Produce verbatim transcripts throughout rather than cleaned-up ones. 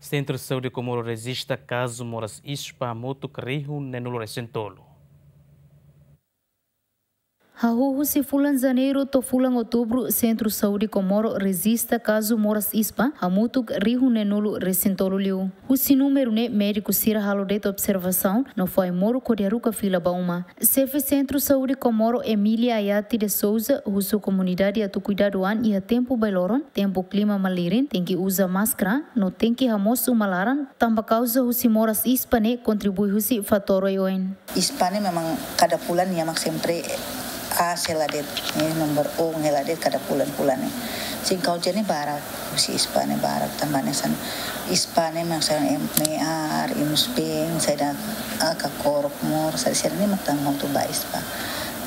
Sentru Saúde Komoro rejista kazu moras ispa hamutuk rihun neenulu resin tolu. Hahú husi fulan Janeiru to'o fulan Outubru, Sentru Saúde Komoro rejista kazu moras ispa hamutuk rihun neenulu resin tolu liu. Husi númeru ne'e, médiku sira halo de'it observasaun no fó ai-moruk hodi haruka fila ba uma. Xefe Sentru Saúde Komoro, Emília Ayati de Souza, husu komunidade atu kuidadu an iha tempu bailoron, tempu klima malirin, tenke uza máskara, no tenke hamoos uma laran, tanba kauza husi moras ispa ne'e kontribui husi fatór oioin. Ispa ne'e memang kada fulan nia mak sempre aas hela de'it, eh, nomor un hela de'it kada fulan-fulan ne'e. Sin kauza ne'e barak, husi ispa ne'e barak, tanba hanesan ispa ne'e mak hanesan em-, me'ar, inus-been, saida, ah, kakorok moras, saida, saida ne'e mak tan hotu ba ispa.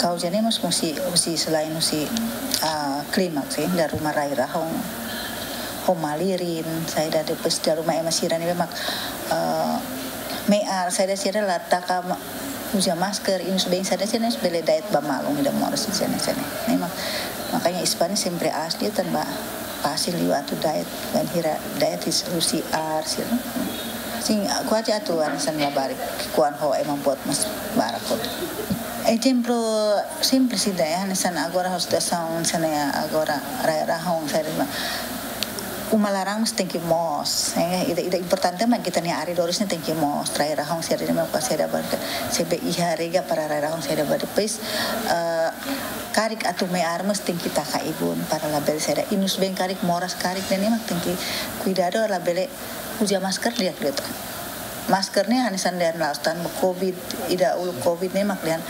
Kauza ne'e mós husi, husi selain husi, ah, klima sih, dala ruma rai-rahun ho malirin, saida, depois dala ruma ema sira ne'ebé mak, ah, me'ar, saida, sira la taka ma-, uza máskara, inus-been, saida, sira ne'e bele da'et ba malu ida moras sira ne'e, sira ne'e. Ne'e mak, makanya ispa ne'e sempre aas liu tanba fasil liu atu da'et, bainhira da'et husi, husi ar sira. Sin, kuaze atu hanesan labarik, kuandu ho ema boot mós barak hotu. Ezemplu simples ida, eh, hanesan agora ho situasaun hanesan ne'e agora rai-rahun, saida, uma laran mós tenke moos, eh, ida, ida importante mak ita-nia arredores ne'e tenke moos, rai-rahun saida ne'e mak saida ba, se be iha rega para rai-rahun saida ba, depois, eh, karik atu me'ar mós tenke taka ibun para labele saida, inus-been karik, moras karik, ne'e mak tenke kuidadu labele uza máskara di'ak liután. Máskara ne'e hanesan dehan la'ós tanba covid, ida uluk covid ne'e mak dehan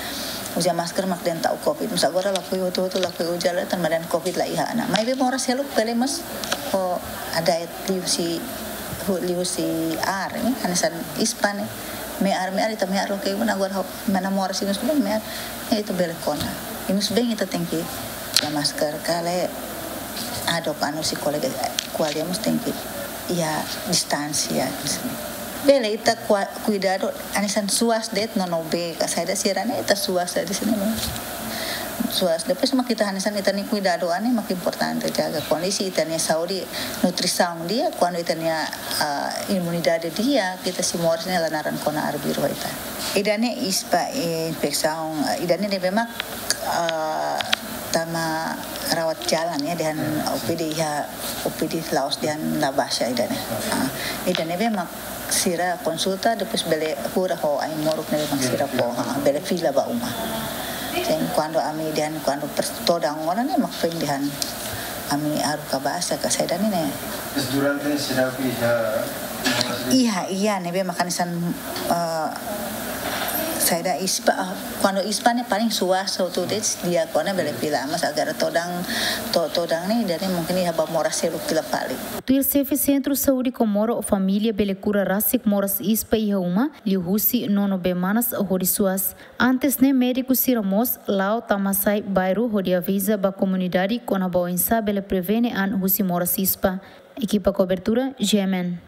uza máskara mak dehan ta'uk covid. Mas agora lakohi hotu-hotu lakohi uza lai tanba dehan covid la iha ona. Maibé moras seluk bele mós ho da'et liuhusi, hu-, liuhusi ar ne'e, hanesan ispa ne'e. Me'ar, me'ar ita me'ar loke ibun agora ho mana moras inus-been me'ar. Ne'e ita bele kona. Inus-been ita tenke uza máskara, kale adok anu husi kolega, ko'alia mós tenke iha distánsia. Bele ita kua-, kuidadu hanesan suas de'it nono bee ka saida sira ne'e ita suas de'it sira ne'e. Suas, depois mak ita hanesan ita-nia kuidadu an ne'e mak importante, jaga kondisi ita-nia saúde, nutrisaun di'ak, kuandu ita-nia, ah, imunidade di'ak, ita sei moras ne'e la naran kona arbiru ita. Ida-ne'e ispa, eh, infesaun, eh, ida-ne'e ne'ebé mak, ah, tama rawat jalan ya, dehan O P D iha, O P D la'ós dehan la baixa ida-ne'e. Ah, ida-ne'e ne'ebé mak sira konsulta, depois bele kura ho ai-moruk ne'ebé mak sira fó, ah, bele fila ba uma. Sin, kuandu ami dehan, kuandu pers-, todan ona ne'e mak foin dehan ami haruka basa ka saida ne'e. Mas durante ne'e sira iha Iha, iha, ne'ebé mak hanesan, eh, saida ispa, ah, kuandu ispa ne'e paling suas hotu de'it, di'ak ona bele fila, mas agora todan, to-, todan ne'e, jadi mungkin iha ba moras seluk fila fali. Tuir Xefe Sentru Saúde Komoro, família bele kura rasik moras ispa iha uma, liuhusi nono bee manas hodi suas. Antes ne'e médiku sira mós la'o tama sai bairru hodi aviza ba komunidade kona-ba oinsá bele prevene an husi moras ispa. Ekipa kobertura, G M N.